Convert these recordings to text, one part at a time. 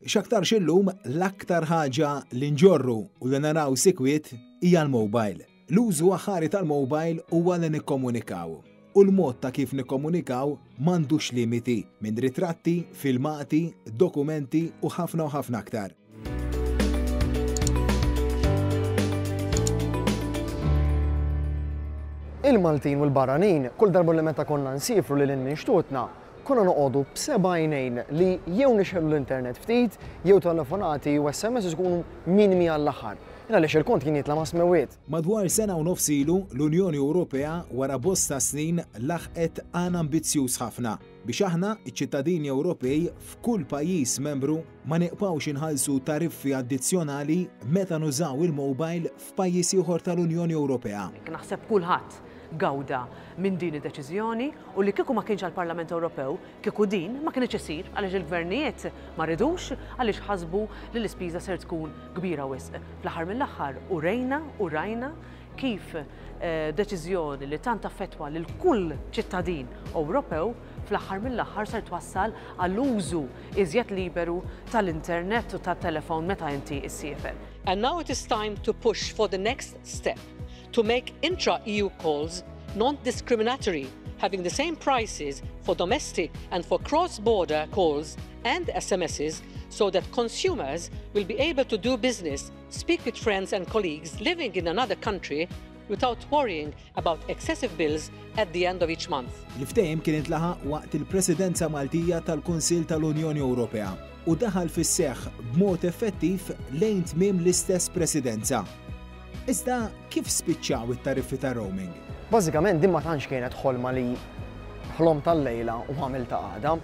X'aktarx illum l-aktar ħaġa li nġorru u li naraw sikwit hija l-mobile. L-użu aħħari tal-mobile huwa li nikkomunikaw. U l-mod ta' kif nikkomunikaw m'għandux limiti minn ritratti, filmati, dokumenti u ħafna u ħafna aktar. Il-Maltin u l-barranin, kull darba li meta konna nsifru lil hinn minn xtutna, konna noqogħdu b'seba' għajnejn li jew nixegħlu l-internet ftit, jew telefonati u SMS ikunu minimi għall-aħħar. Għaliex il-kont kien jitla' ma' smewwiet. Madwar sena u nofs ilu, l-Unjoni Ewropea wara bosta snin laħqet għan ambizzjuż ħafna biex aħna, iċ-ċittadini Ewropej f'kull pajjiż membru, ma niqpgħux inħallsu tariffi addizzjonali meta nużaw il-mobile f'pajjiż ieħor tal-Unjoni Ewropea. Naħseb kulħadd gawda minn din id-deċiżjoni u li kieku ma kienx għall-Parlament Ewropew, kieku din ma kinitx issir għaliex il-gvernijiet ma ridux għaliex ħasbu li l-ispiża ser tkun kbira wisq. Fl-aħħar mill-aħħar urejna u rajna kif deċiżjoni li tant affettwa lil kull ċittadin Ewropew fl-aħħar mill-aħħar ser twassal għall-użu iżjed liberu tal-internet u tat-telefon meta inti ssiefer. And now it is time to push for the next step, to make intra-EU calls non-discriminatory, having the same prices for domestic and for cross-border calls and SMSs so that consumers will be able to do business, speak with friends and colleagues living in another country without worrying about excessive bills at the end of each month. Il-ftehim kien intlaħaq waqt il-Presidenza Maltija tal-Kunsill tal-Unjoni Ewropea u daħal fis-seħħ b'mod effettiv lejn tmiem l-istess Presidenza. Iżda kif spiċċaw it-tariffi ta' roaming? Bażikament din ma tantx kienet ħolma li ħlom tal-lejla u għamil ta' għada.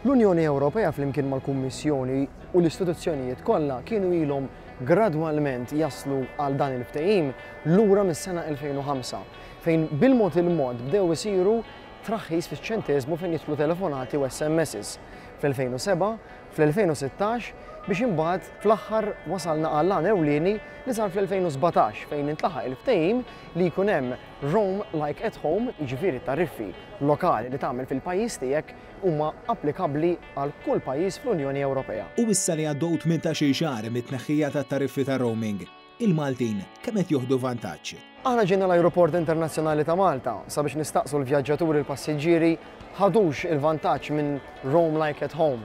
L-Unjoni Ewropea flimkien mal-Kummissjoni u l-istituzzjonijiet kollha kienu ilhom gradwalment jaslu għal dan il-ftehim lura mis-sena 2005, fejn bil-mod il-mod bdew isiru traħħis fiċ-ċenteżmu fejn jidħlu telefonati u SMSs fl-2007, fl-2016 biex imbagħad fl-aħħar wasalna għall-għan ewlieni li sar fl-2017 fejn intlaħaq il-ftehim li jkun hemm roam like at home, jiġifieri tariffi lokali li tagħmel fil-pajjiż tiegħek huma applikabbli għal kull pajjiż fl-Unjoni Ewropea. U issa li għaddew 18-il xahar mit-tneħħija tat-tariffi ta' roaming, il-Maltin kemm qed joħdu vantaġġ? Aħna ġejna l-Ajruport Internazzjonali ta' Malta sabiex nistaqsu l-vjaġġaturi l-passiġġieri ħadux il-vantaġġ minn Roam Like at Home.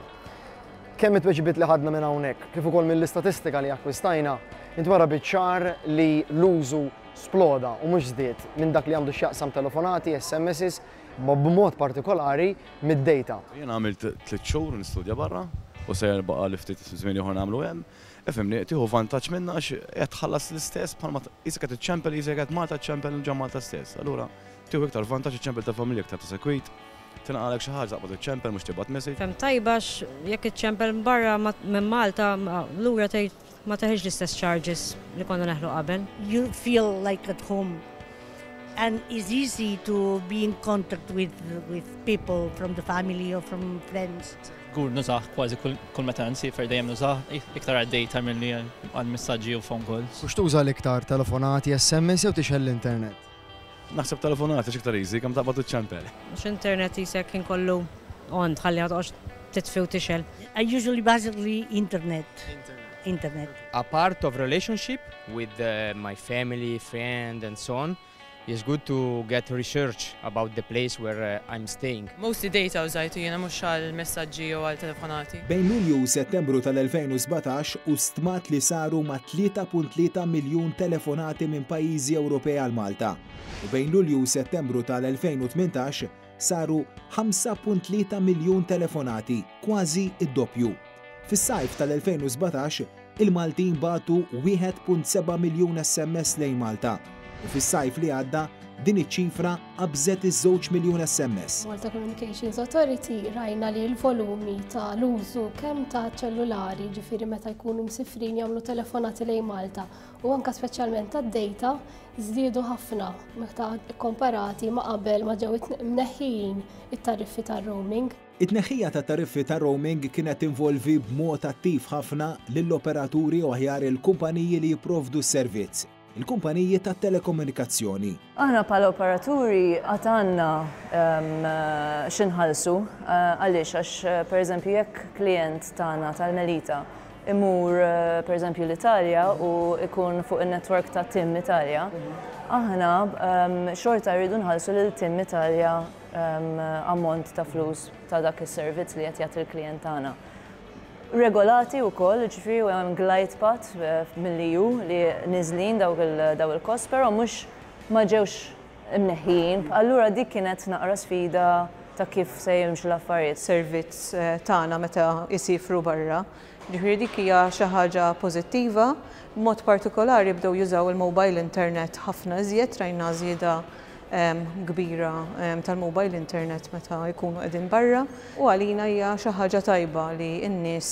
Kemm it-tweġibiet li ħadna minn hawnhekk, kif ukoll mill-istatistika li akkwistajna, intwera biċ-ċar li l-użu sploda u mhux żdied minn dak li għandu x'jaqsam telefonati, SMSs, ma b'mod partikolari mid-data. Jiena għamilt tliet xhur nistudja barra u sejjer baqa' li ftit żmien ieħor nagħmlu hemm. Ifhimni, tieħu vantaġġ minnha għax qed tħallas l-istess bħalma qisek qed iċċempel qisek qed Malta ċċempel ġo Malta stess. Allura tieħu iktar vantaġġ iċċempel ta' familja iktar ta' sekwit, tinqalgħek xi ħaġa taqbad iċċempel mhux tibgħat message. Ferm tajba għax jekk iċċempel minn barra minn Malta lura tgħid ma teħilx l-istess charges li konna neħlu qabel. You feel like at home and it's easy to be in contact with with people from the family or from friends. Żgur nużah kważi kull meta nsiefer dejjem nużah iktar għad-data milli għal messaġġi u phone calls. U x'tuża l-iktar, telefonati, SMS jew tixgħel l-internet? Naħseb telefonati għax iktar easy, kemm taqbad u ċċempel. Għax internet qisek ħin kollu on tħalli ma toqgħodx titfi u tixgħel. I usually basically internet. Internet. A part of relationship with my family, friend and so on. It's good to get research about the place where I'm staying. Mostly data użajtu jiena mhux għal messaġġi jew għal telefonati. Bejn Lulju u Settembru tal-2017 hu stmat li saru ma' 3.3 miljun telefonati minn pajjiżi Ewropej għal Malta u bejn Lulju u Settembru tal-2018 saru 5.3 miljun telefonati, kważi d-doppju. Fis-sajf tal-2017, il-Maltin bagħtu 1.7 miljun SMS lejn Malta u fis-sajf li għadda din iċ-ċifra qabżet iż-żewġ miljun SMS. Malta Communications Authority rajna li l-volumi ta' l-użu kemm ta' ċellulari, ġifieri meta jkunu msifrin jagħmlu telefonati lejn Malta u anke speċjalment tad-data żdiedu ħafna meta kkomparati ma' qabel ma ġew mneħħijin it-tariffi tar-roaming. It-tneħħija ta' tariffi ta' roaming kienet tinvolvi b'mod attiv ħafna lill-operaturi u aħjar il-kumpaniji li jipprovdu s-servizz. il-kumpaniji tat-telekomunikazzjoni. Aħna bħala operaturi għad għandna x'inħallsu. Għaliex? Għax pereżempju jekk klijent tagħna tal-Melita imur pereżempju l-Italja u ikun fuq in-network ta' Tim Italia, aħna xorta rridu nħallsu lil Tim Italia ammont ta' flus ta' dak is-servizz li qed jagħti l-klijent tagħna. Regolati wkoll, ġifieri hemm glide path mill-EU li niżlin dawk il-cost, però mhux ma ġewx imneħħijin. Allura dik kienet naqra sfida ta' kif se jimxu l-affarijiet. Servizz tagħna meta jsifru barra. Ġifieri dik hija xi ħaġa pożittiva. B'mod partikolari bdew jużaw il-mobile internet ħafna iżjed, rajna żieda kbira tal-mobile internet meta jkunu qegħdin barra u għalina hija xi ħaġa tajba li n-nies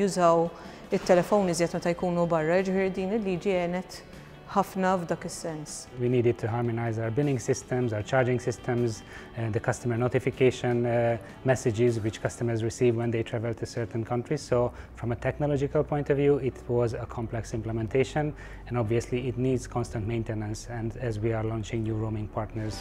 jużaw it-telefon iżjed meta jkunu barra, ġifieri din il-liġi għenet ħafna f'dak is-sens. We needed to harmonize our billing systems, our charging systems, the customer notification messages which customers receive when they travel to certain countries. So from a technological point of view, it was a complex implementation, and obviously it needs constant maintenance, and as we are launching new roaming partners.